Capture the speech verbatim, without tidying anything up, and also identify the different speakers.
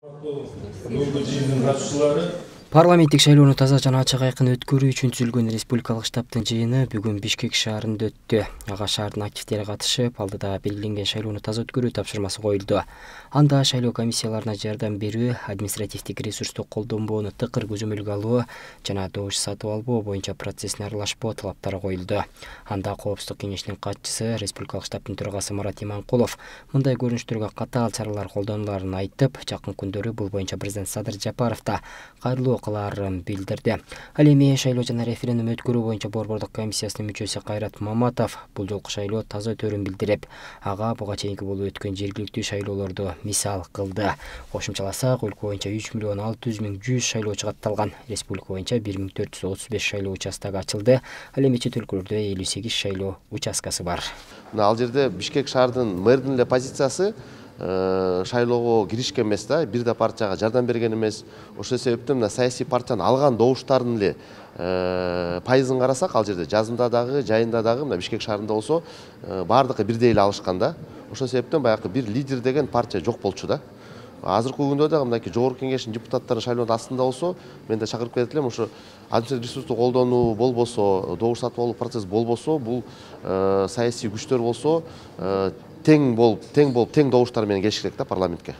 Speaker 1: Бүгүнкү жыйындын катышуучулары
Speaker 2: Парламенттик шайлоону таза жана ачык айкын өткөрүү үчүн түзүлгөн республикалык штабтын жыйыны бүгүн Бишкек шаарында өттү. Ага шаардын активдери катышып, алдыда белгиленген шайлоону таза өткөрүү тапшырмасы коюлду. Анда шайлоо комиссияларына жардам берүү, административдик ресурсту колдонбоону тыкыр көзөмөлгө алуу жана добуш сатып албоо боюнча процессине аралашпоо талаптары коюлду. Анда Коопсуздук кеңешинин катчысы, республикалык штабтын төрагасы Марат Иманкулов мындай көрүнүштөргө катаал чаралар колдонуларын айтып, жакын күндөрү бул боюнча президент Садыр Жапаров да кайрылуу кылаарын билдирди. Ал эми шайлоо жана референдум өткөрүү боюнча борбордук комиссиясынын мүчөсү Кайрат Маматов бул жолку шайлоо таза өтөөрүн билдирип, ага буга чейинки болуп өткөн жергиликтүү шайлоолорду мисал кылды. Кошумчаласак, өлкө боюнча үч миллион алты жүз миң жүз шайлоочу катталган. Республика боюнча бир миң төрт жүз отуз беш шайлоо участогу ачылды. Ал эми чет өлкөлөрдө элүү сегиз шайлоо участкасы бар.
Speaker 3: Ал жерде Бишкек шаардын мэрдин эле позициясы шайлоого киришкен эмес да, бир да партияга жардам берген эмес. Ошол себептен мына саясий партиянын алган добуштардын эле пайызын карасак, ал жерде жазында дагы, жайында дагы мына Бишкек шаарында болсо баардыгы бирдей эле алышкан да. Ошол себептен баягы бир лидер деген партия жок болчу да. Азыркы күндө дагы мындай жогорку кеңештин депутаттары шайлоонун астында болсо, мен да чакырып кетет элем, ошо административдик ресурсту колдонуу болбосо, добуш сатып алуу процесс болбосо, бул саясий күчтөр болсо тең болуп, тең болуп, тең добуштар менен келиш керек да парламентке.